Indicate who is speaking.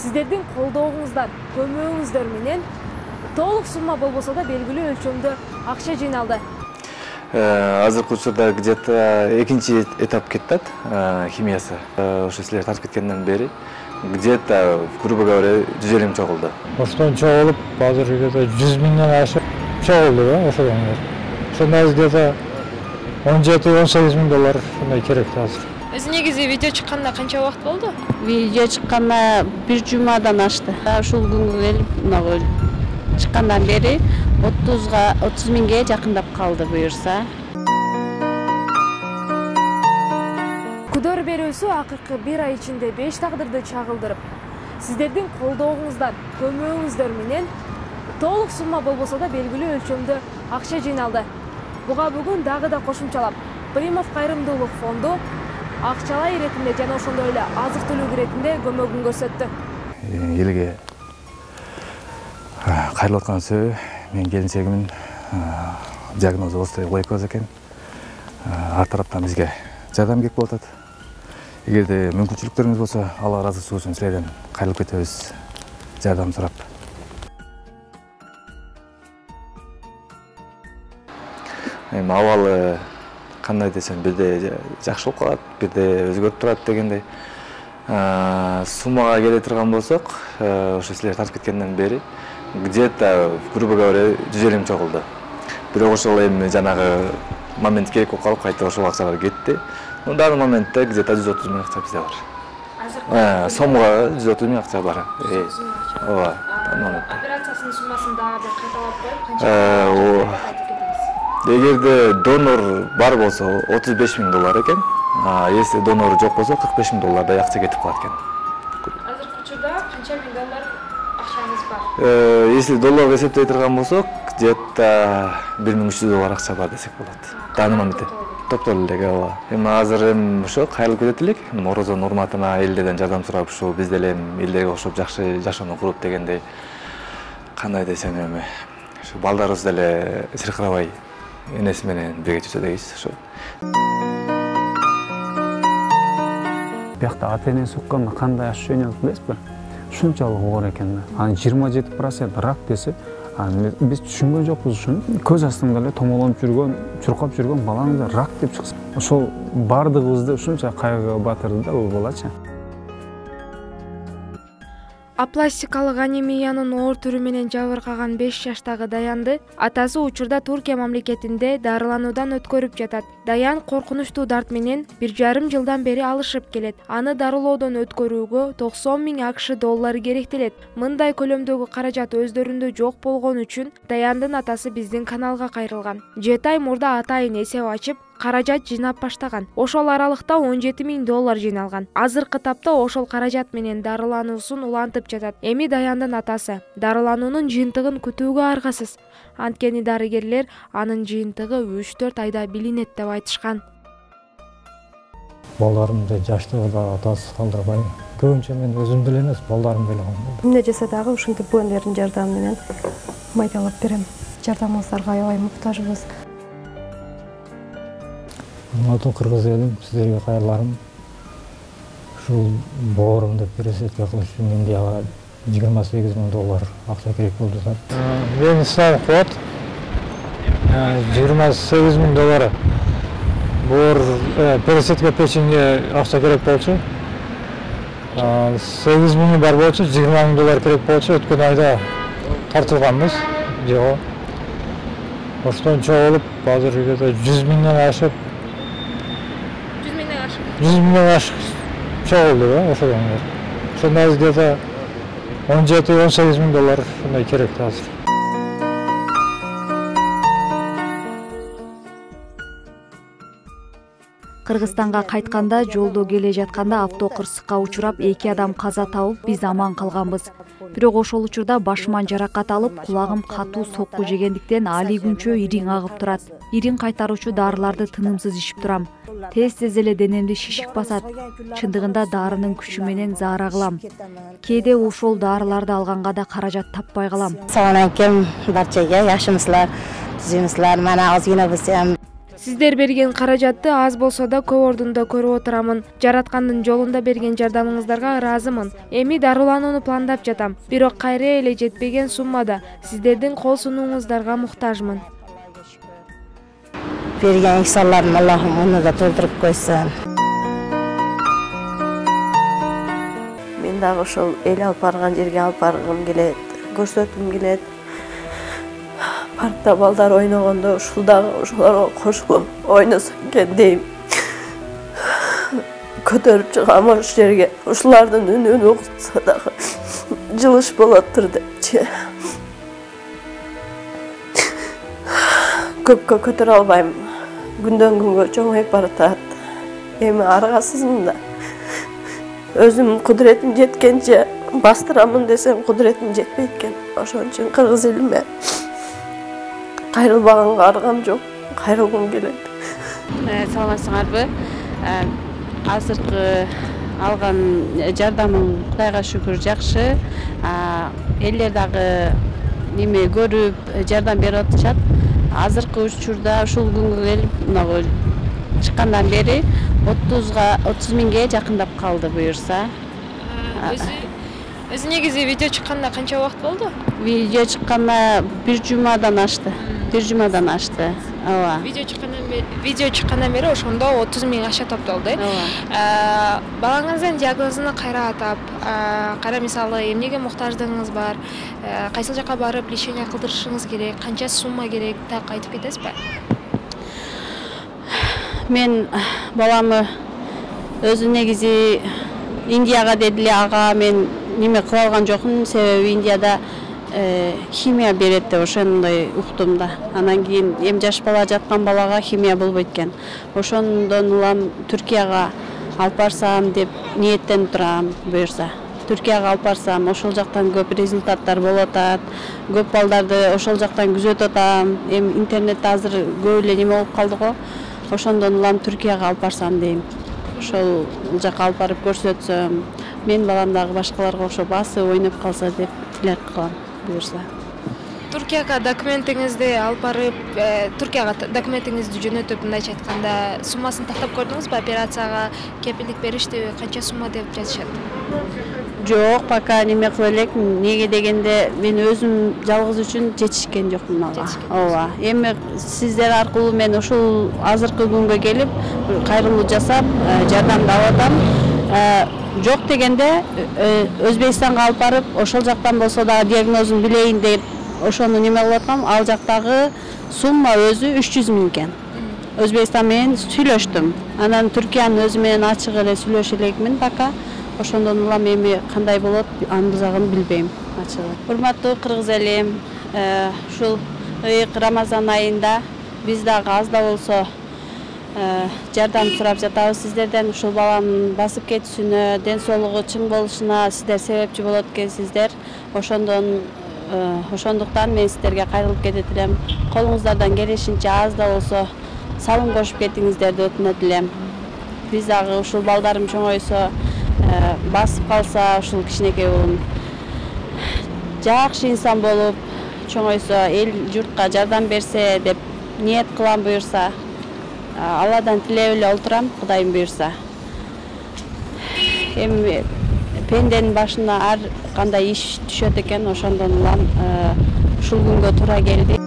Speaker 1: Сиздердин колдооңуздар, көмөгүңүздөр менен толук сумма болбосо да белгилүү өлчөмдө акча жыйналды.
Speaker 2: Азыркы учурда где-то экинчи этап кетет химиясы. Ошо силер тартып кеткенден бери где-то, грубо говоря, 150 чогулду.
Speaker 3: Оштон чогулуп, азыр где-то 100 миңден ашып чогулду, ошодон. Ошондо где-то 17-18 миң доллар ушундай керек азыр.
Speaker 1: Өзү негизи видео чыкканда канча убакыт болду?
Speaker 4: Видео чыкканда бир жумадан ашты. Ушул күнгө келип, чыккандан бери 30 миңге жакындап калды буюрса.
Speaker 1: Күдөр берүүсү акыркы бир ай ичинде 5 тагдырды чагылдырып, сиздердин колдооңуздар, көмөгүңүздөр менен толук сумма болбосо да белгилүү өлчөмдө акча жыйналды. Буга бүгүн дагы да кошумчалап, Примов кайрымдуулук фонду акчалай иретинде жана ошондой эле азык-түлүк иретинде көмөгүн көрсөттү.
Speaker 2: Элге кайрылып аткан себеби менин келинчегимдин диагнозу остеоглейкоз экен. Ар тараптан бизге жардам керек болуп атат. Эгерде мүмкүнчүлүктөрүңүз болсо, Алла ыраазычылыгы үчүн силерден кайрылып кетебиз, жардам сурап. Абалы кандай десем, бирде жакшы болуп калат, бирде өзгөрүп турат дегендей. Суммага келе турган болсок, ошо силер тартып кеткенден бери где-то, грубо говоря, 150 чогулду. Бирок ошол эми жанагы момент керек болуп калып, кайта ошол акчалар кетти. Ну, данный моментте где-то 130 миң акча бизде бар. Сомго 130 миң акча бар. Ооба, данный моментте.
Speaker 1: Операциясынын суммасын дагы кайталап коюп, канча?
Speaker 2: Эгерде донор бар болсо 35 миң доллар экен. Если донор жок болсо 45 миң доллардай акча кетип калат экен.
Speaker 1: Азыркы учурда канча миң доллар акчаңыз бар?
Speaker 2: Если долларга эсептей турган болсок, где-то 1300 доллар акча бар десек болот. Данный моментте. Топтолу эле, ооба. Эми азыр ошо кайрылып кетет элек. Орозонун урматына элдерден жардам сурап, ушул биз деле элдерге окшоп жакшы жашоону куруп дегендей. Кандай десем эми, ушу балдарыбыз деле сыркырабай энеси менен бирге жүрсө дейбиз ошо.
Speaker 5: Биякта ата-энеси укканда кандай ощущение болот билесизби? Ушунчалык оор экен. Анын 27% рак десе, биз түшүнгөн жокпуз ушуну. Көз астыңда эле томолонуп жүргөн, чуркап жүргөн балаңызды рак деп чыкса, ошол бардыгыбызды ушунча кайгыга батырды да бул балачы.
Speaker 1: Апластикалык анемиянын оор түрү менен жабыркаган 5 жаштагы Даянды атасы учурда Туркия мамлекетинде дарылануудан өткөрүп жатат. Даян коркунучтуу дарт менен 1,5 жылдан бери алышып келет. Аны дарылоодон өткөрүүгө 90 миң АКШ доллары керектелет. Мындай көлөмдөгү каражат өздөрүндө жок болгон үчүн Даяндын атасы биздин каналга кайрылган. 7 ай мурда атайын эсеп ачып, каражат жыйнап баштаган. Ошол аралыкта 17 миң доллар жыйналган. Азыркы тапта ошол каражат менен дарылануусун улантып жатат. Эми Даяндын атасы дарылануунун жыйынтыгын күтүүгө аргасыз. Анткени дарыгерлер анын жыйынтыгы 3-4 айда билинет деп айтышкан.
Speaker 3: Балдарымды жаштыгында атасыз калдырбай, көбүнчө мен өзүм деле эмес, балдарым деле калдырбайм.
Speaker 6: Эмне жаса дагы ушинтип буендердин жардамы менен майдалап берем. Жардамыңыздарга аябай муктажбыз.
Speaker 3: Урматтуу кыргыз элим, сиздерге кайрыларым. Ушул боорумду пересадка кылыш үчүн менде 28 миң доллар акча керек болду. Мен ислам кубат 28 миң доллар. Боор пересадка печеньге акча керек болчу. 8 миң бар болчу, 20 миң доллар керек болчу. Өткөн айда тартылганбыз. Жок. Оштон чогулуп, азыр где-то 100 миңден ашып 100 миңден ашып чогулду, ошодон. Ошондо где-то 17-18 миң доллар ушундай керек азыр.
Speaker 7: Кыргызстанга кайтканда жолдо келе жатканда автокырсыкка учурап 2 адам каза табып, биз аман калганбыз. Бирок ошол учурда башыман жаракат алып, кулагым катуу сокку жегендиктен али күнчө ириң агып турат. Ириң кайтаруучу дарыларды тынымсыз ичип турам. Тез эле денемди шишик басат. Чындыгында дарынын күчү менен заара кылам. Кээде ошол дарыларды алганга да каражат таппай калам.
Speaker 4: Салам алейкум барчага, жакшымысыздар, түзүмүсүздар? Мана азгина билсем
Speaker 1: Сиздер берген каражатты аз болсо да көп ордунда көрүп отурамын. Жараткандын жолунда берген жардамыңыздарга ыраазымын. Эми дарыланууну пландап жатам. Бирок кайра эле жетпеген суммада сиздердин кол сунууңуздарга муктажмын.
Speaker 8: Берген ихсаларым Аллахым муну да толтуруп койсун.
Speaker 9: Мен дагы ошол эл алып барган жерге алып баргым келет, көрсөткүм келет. Паркта балдар ойногондо ушул дагы ошолорго кошулуп ойносо экен дейм. Көтөрүп чыгам ошол жерге. Ушулардын үнүн угса дагы жылыш болоттур депчи. Көпкө көтөрө албайм. Күндөн күнгө чоңоюп баратат. Эми аргасызмын да. Өзүм кудуретим жеткенче бастырамын десем кудуретим жетпейт экен. Ошон үчүн кыргыз элиме кайрылбаганга аргам жок. Кайрылгым келет.
Speaker 4: Саламатсыңарбы? Азыркы алган жардамым Кудайга шүгүр жакшы. Элдер дагы неме көрүп жардам берип атышат. Азыркы учурда ушул күнгө келип чыккандан бери 30 миңге жакындап калды буюрса.
Speaker 1: Өзү негизи видео чыкканда канча убакыт болду?
Speaker 4: Видео чыкканда бир жумадан ашты. Ооба.
Speaker 1: Видео чыккандан бери ошондо 30 миң аша топтолду. Балаңыздын диагнозуну кайра атап, кайра мисалы эмнеге муктаждыгыңыз бар, кайсыл жака барып лечение кылдырышыңыз керек, канча сумма керек, так айтып кетесизби?
Speaker 4: Мен баламы өзү негизи Индияга дедиле, ага мен неме кыла алган жокмун, себеби Индияда химия берет деп ошондой уктум да. Анан кийин эми жаш бала жаткан балага химия болбойт экен. Ошондон улам Түркияга алып барсам деп ниеттенип турам буюрса. Түркияга алып барсам, ошол жактан көп результаттар болуп атат. Көп балдарды ошол жактан күзөтүп атам. Эми интернетте азыр көп эле неме болуп калды го. Ошондон улам Түркияга алып барсам дейм. Ошол жака алып барып көрсөтсөм, мен балам дагы башкаларга окшоп басып ойноп калса деп тилек кылам буюрса.
Speaker 1: Түркияга документиңизди алып барып, Түркияга документиңизди жөнөтүп, мындайча айтканда, суммасын тактап көрдүңүзбү? Операцияга кепилдик беришти, канча сумма деп жазышат?
Speaker 4: Жок, пока неме кыла элек. Неге дегенде мен өзүм жалгыз үчүн жетишкен жокмун ага. Ооба. Эми сиздер аркылуу мен ушул азыркы күнгө келип, кайрылуу жасап, жардамды алып атам. Жок дегенде Өзбекстанга алып барып, ошол жактан болсо да диагнозун билейин деп ошону неме кылып аткам. Ал жактагы сумма өзү 300 миң экен. Өзбекстан менен сүйлөштүм. Анан Түркиянын өзү менен ачык эле сүйлөшө элекмин пока. Ошондон улам эми кандай болот, анын бузагын билбейм ачыгы. Урматтуу кыргыз элим, ушул ыйык Рамазан айында биз дагы аз да болсо жардам сурап жатабыз сиздерден. Ушул баланын басып кетүүсүнө, ден соолугу чың болушуна сиздер себепчи болот экенсиздер. Ошондуктан мен сиздерге кайрылып кетет элем. Колуңуздардан келишинче аз да болсо салым кошуп кетиңиздерди өтүнөт элем. Биз дагы ушул балдарым чоңойсо, басып калса, ушул кичинекей улум жакшы инсан болуп чоңойсо, эл журтка жардам берсе деп ниет кылам буюрса. Алладан тилеп эле отурам, Кудайым буюрса. Эми пенденин башына ар кандай иш түшөт экен, ошондон улам ушул күнгө туура келди.